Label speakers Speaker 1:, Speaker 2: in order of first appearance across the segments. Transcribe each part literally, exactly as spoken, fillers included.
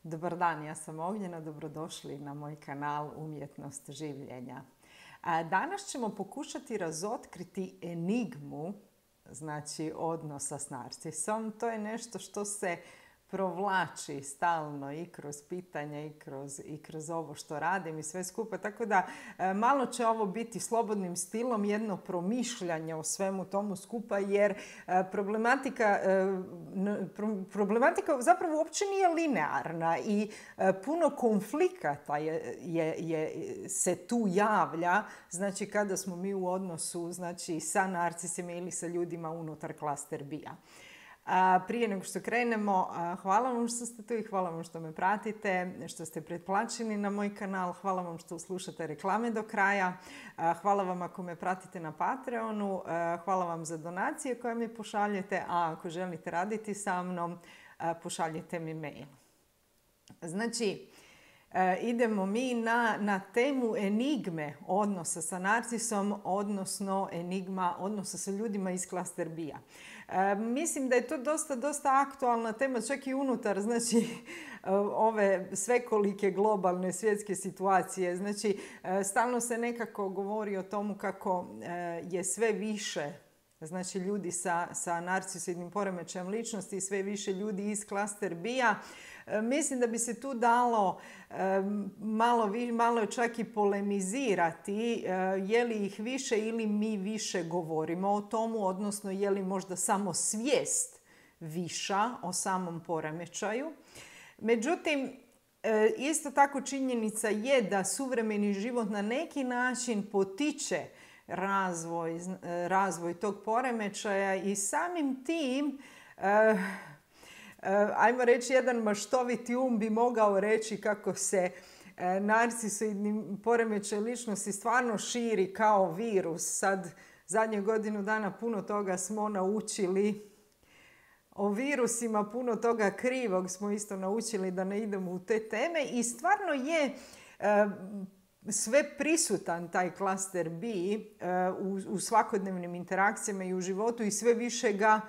Speaker 1: Dobar dan, ja sam Ognjena, dobrodošli na moj kanal Umjetnost življenja. Danas ćemo pokušati razotkriti enigmu, znači odnosa s narcisom. To je nešto što se provlači stalno i kroz pitanja i kroz, i kroz ovo što radim i sve skupa. Tako da malo će ovo biti slobodnim stilom jedno promišljanje o svemu tomu skupa, jer problematika, problematika zapravo uopće nije linearna i puno konflikata je, je, je, se tu javlja, znači kada smo mi u odnosu znači, sa narcisima ili sa ljudima unutar klaster B-a. A prije nego što krenemo, hvala vam što ste tu i hvala vam što me pratite, što ste pretplaćeni na moj kanal, hvala vam što slušate reklame do kraja, hvala vam ako me pratite na Patreonu, hvala vam za donacije koje mi pošaljete, a ako želite raditi sa mnom, pošaljite mi mail. Znači, idemo mi na, na temu enigme odnosa sa narcisom, odnosno enigma odnosa sa ljudima iz klaster B-a. E, mislim da je to dosta, dosta aktualna tema, čak i unutar znači, ove svekolike globalne svjetske situacije. Znači, stalno se nekako govori o tomu kako je sve više znači, ljudi sa, sa narcisoidnim poremećajem ličnosti i sve više ljudi iz klaster B-a. Mislim da bi se tu dalo malo, malo čak i polemizirati je li ih više ili mi više govorimo o tomu, odnosno je li možda samo svijest viša o samom poremećaju. Međutim, isto tako činjenica je da suvremeni život na neki način potiče razvoj, razvoj tog poremećaja i samim tim ajmo reći, jedan maštoviti um bi mogao reći kako se narcisoidni poremećaj ličnosti stvarno širi kao virus. Sad, zadnje godinu dana puno toga smo naučili o virusima, puno toga krivog smo isto naučili da ne idemo u te teme i stvarno je sve prisutan taj klaster B u, u svakodnevnim interakcijama i u životu i sve više ga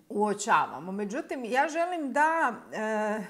Speaker 1: uočavamo. Međutim, ja želim da e,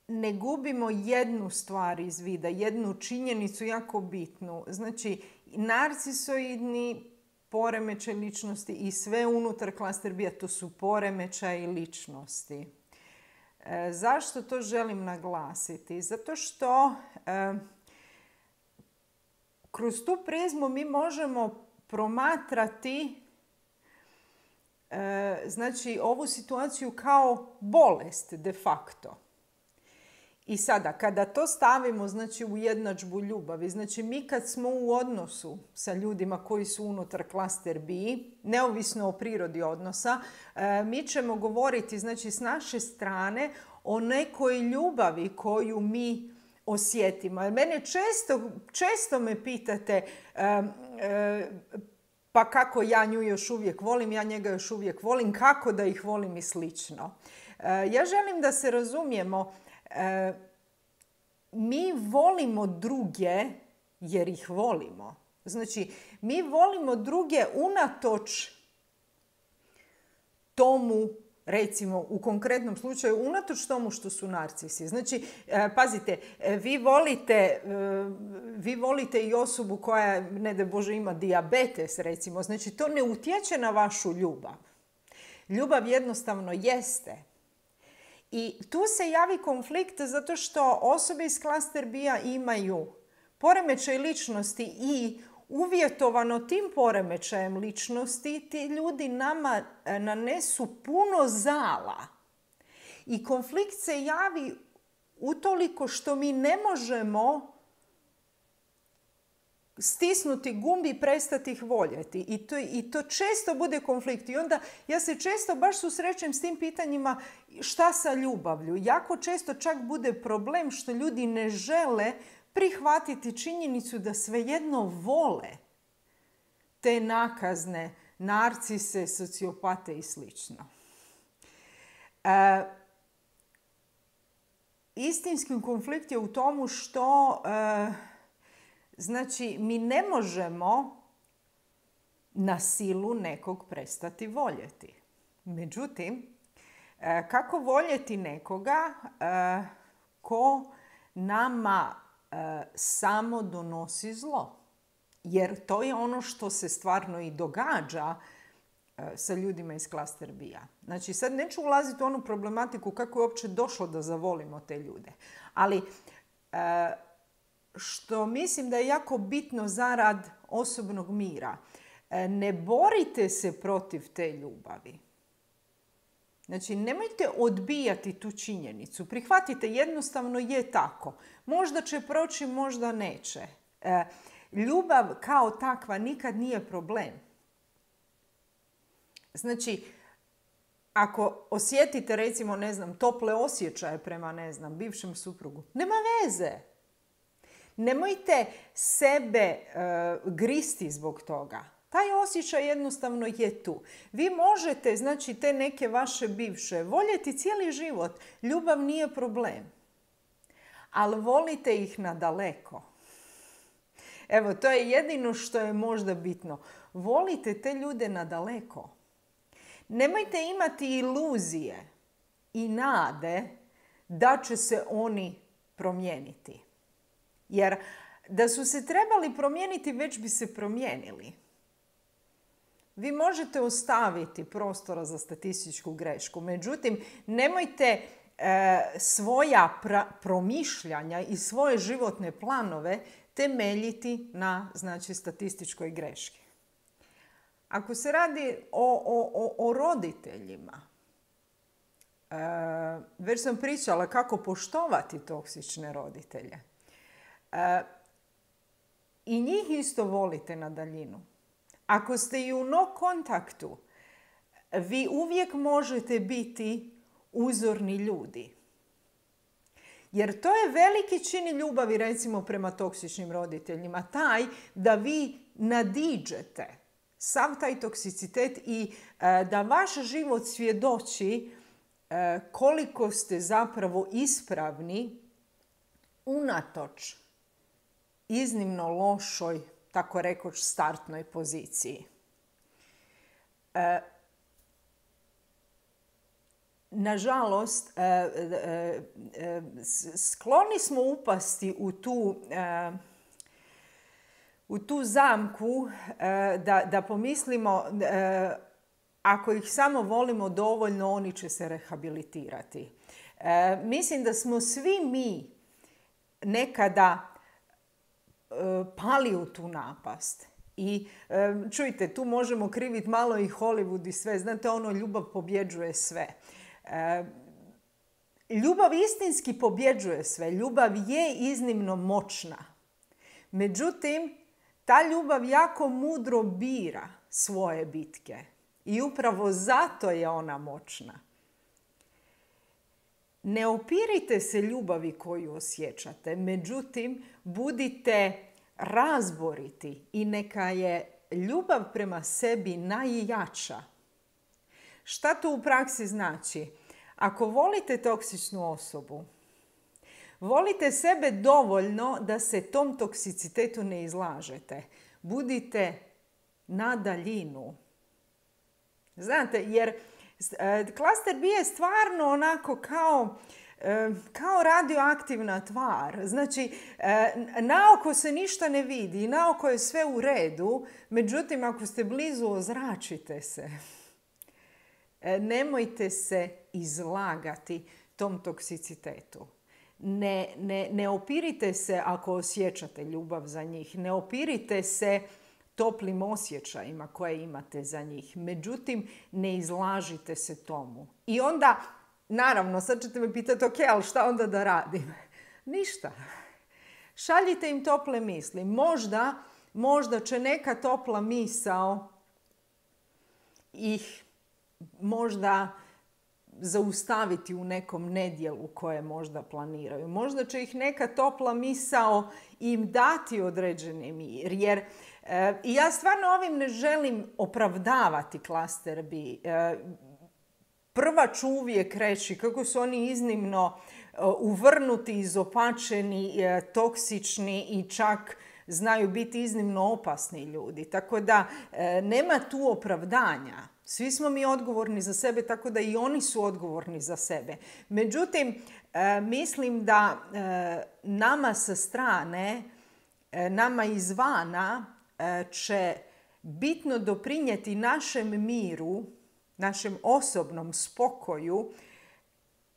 Speaker 1: ne gubimo jednu stvar iz vida, jednu činjenicu jako bitnu. Znači, narcisoidni poremećaj ličnosti i sve unutar klaster B-a, to su poremećaji ličnosti. E, zašto to želim naglasiti? Zato što e, kroz tu prizmu mi možemo promatrati znači ovu situaciju kao bolest de facto. I sada, kada to stavimo znači, u jednadžbu ljubavi, znači mi kad smo u odnosu sa ljudima koji su unutar klaster B, neovisno o prirodi odnosa, mi ćemo govoriti znači, s naše strane o nekoj ljubavi koju mi osjetimo. Mene često, često me pitate pa kako ja nju još uvijek volim, ja njega još uvijek volim, kako da ih volim i slično. Ja želim da se razumijemo, mi volimo druge jer ih volimo. Znači, mi volimo druge unatoč tomu, recimo u konkretnom slučaju, unatoč tomu što su narcisi. Znači, pazite, vi volite, vi volite i osobu koja, ne daj Bože, ima dijabetes, recimo. Znači, to ne utječe na vašu ljubav. Ljubav jednostavno jeste. I tu se javi konflikt zato što osobe iz klaster B-a imaju poremećaj ličnosti i uvjetovano tim poremećajem ličnosti, ti ljudi nama nanesu puno zala. I konflikt se javi utoliko što mi ne možemo stisnuti gumbi i prestati ih voljeti. I to, I to često bude konflikt. I onda ja se često baš susrećem s tim pitanjima šta sa ljubavlju. Jako često čak bude problem što ljudi ne žele prihvatiti činjenicu da svejedno vole te nakazne narcise, sociopate i slično. E, istinski konflikt je u tomu što e, znači mi ne možemo na silu nekog prestati voljeti. Međutim, Kako voljeti nekoga ko nama samo donosi zlo? Jer to je ono što se stvarno i događa sa ljudima iz klaster B-a. Znači, sad neću ulaziti u onu problematiku kako je uopće došlo da zavolimo te ljude. Ali što mislim da je jako bitno zarad osobnog mira, ne borite se protiv te ljubavi. Znači, nemojte odbijati tu činjenicu. Prihvatite, jednostavno je tako. Možda će proći, možda neće. E, ljubav kao takva nikad nije problem. Znači, ako osjetite, recimo, ne znam, tople osjećaje prema, ne znam, bivšem suprugu, nema veze. Nemojte sebe uh, gristi zbog toga. Taj osjećaj jednostavno je tu. Vi možete, znači, te neke vaše bivše voljeti cijeli život. Ljubav nije problem. Ali volite ih nadaleko. Evo, to je jedino što je možda bitno. Volite te ljude nadaleko. Nemojte imati iluzije i nade da će se oni promijeniti. Jer da su se trebali promijeniti, već bi se promijenili. Vi možete ostaviti prostora za statističku grešku. Međutim, nemojte e, svoja pra, promišljanja i svoje životne planove temeljiti na, znači, statističkoj greški. Ako se radi o, o, o roditeljima, e, već sam pričala kako poštovati toksične roditelje. E, I njih isto volite na daljinu. Ako ste i u no kontaktu, vi uvijek možete biti uzorni ljudi. Jer to je veliki čin ljubavi, recimo, prema toksičnim roditeljima. Taj da vi nadiđete sav taj toksicitet i e, da vaš život svjedoči e, koliko ste zapravo ispravni unatoč iznimno lošoj, tako rekoć, startnoj poziciji. E, nažalost, e, e, e, skloni smo upasti u tu, e, u tu zamku e, da, da pomislimo e, ako ih samo volimo dovoljno, oni će se rehabilitirati. E, mislim da smo svi mi nekada pali u tu napast. I čujte, tu možemo kriviti malo i Hollywood i sve. Znate, ono, ljubav pobjeđuje sve. Ljubav istinski pobjeđuje sve. Ljubav je iznimno moćna. Međutim, ta ljubav jako mudro bira svoje bitke. I upravo zato je ona moćna. Ne opirite se ljubavi koju osjećate, međutim, budite razboriti i neka je ljubav prema sebi najjača. Šta to u praksi znači? Ako volite toksičnu osobu, volite sebe dovoljno da se tom toksicitetu ne izlažete. Budite na daljinu. Znate, jer klaster B je stvarno onako kao, kao radioaktivna tvar. Znači, naoko se ništa ne vidi, naoko je sve u redu, međutim, ako ste blizu, ozračite se. Nemojte se izlagati tom toksicitetu. Ne, ne, ne opirite se ako osjećate ljubav za njih. Ne opirite se toplim osjećajima koje imate za njih. Međutim, ne izlažite se tomu. I onda, naravno, sad ćete me pitati, ok, ali šta onda da radim? Ništa. Šaljite im tople misli. Možda, možda će neka topla misao ih možda zaustaviti u nekom nedjelu koje možda planiraju. Možda će ih neka topla misao im dati određeni mir. Jer e, ja stvarno ovim ne želim opravdavati klaster B. E, prva ću uvijek reći kako su oni iznimno e, uvrnuti, izopačeni, e, toksični i čak znaju biti iznimno opasni ljudi. Tako da e, nema tu opravdanja. Svi smo mi odgovorni za sebe, tako da i oni su odgovorni za sebe. Međutim, mislim da nama sa strane, nama izvana će bitno doprinijeti našem miru, našem osobnom spokoju,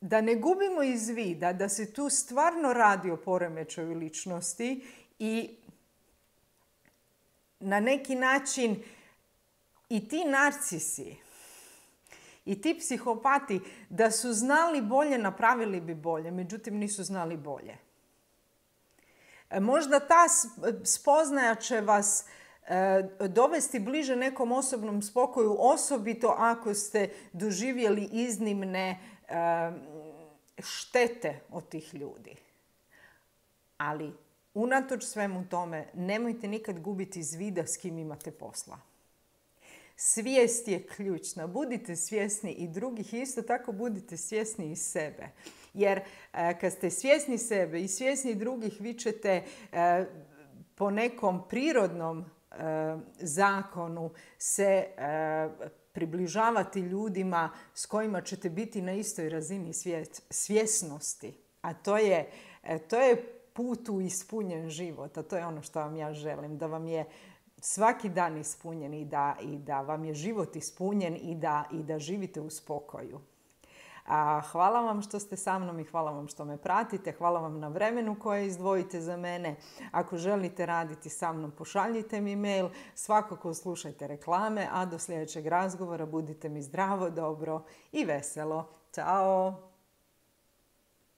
Speaker 1: da ne gubimo iz vida da se tu stvarno radi o poremećaju ličnosti i na neki način i ti narcisi i ti psihopati da su znali bolje, napravili bi bolje, međutim nisu znali bolje. Možda ta spoznaja će vas dovesti bliže nekom osobnom spokoju, osobito ako ste doživjeli iznimne štete od tih ljudi. Ali unatoč svemu tome, nemojte nikad gubiti iz vida s kim imate posla. Svijest je ključna. Budite svjesni i drugih, isto tako budite svjesni i sebe. Jer kad ste svjesni sebe i svjesni drugih, vi ćete po nekom prirodnom zakonu se približavati ljudima s kojima ćete biti na istoj razini svjesnosti. A to je, to je put u ispunjen život. A to je ono što vam ja želim. Da vam je svaki dan ispunjen i da, i da vam je život ispunjen i da, i da živite u spokoju. A hvala vam što ste sa mnom i hvala vam što me pratite. Hvala vam na vremenu koje izdvojite za mene. Ako želite raditi sa mnom, pošaljite mi mail. Svakako slušajte reklame, a do sljedećeg razgovora budite mi zdravo, dobro i veselo. Ćao!